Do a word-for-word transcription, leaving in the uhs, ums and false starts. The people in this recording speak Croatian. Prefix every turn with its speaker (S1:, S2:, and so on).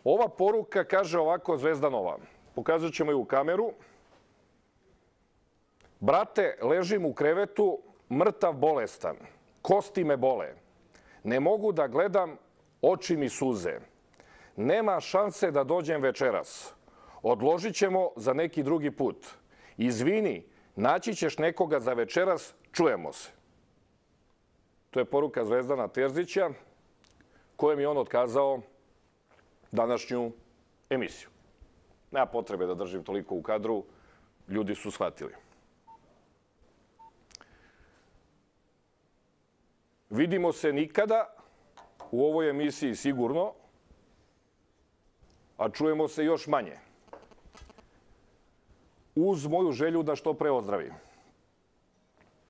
S1: Ova poruka kaže ovako Zvezdanova. Pokazat ćemo ju u kameru. Brate, ležim u krevetu, mrtav bolestan. Kosti me bole. Ne mogu da gledam, oči mi suze. Nema šanse da dođem večeras. Odložit ćemo za neki drugi put. Izvini, naći ćeš nekoga za večeras, čujemo se. To je poruka Zvezdana Terzića, kojem je on otkazao današnju emisiju. Nema potrebe da držim toliko u kadru, ljudi su shvatili. Vidimo se nikada u ovoj emisiji sigurno, a čujemo se još manje. Uz moju želju da što pre ozdravim.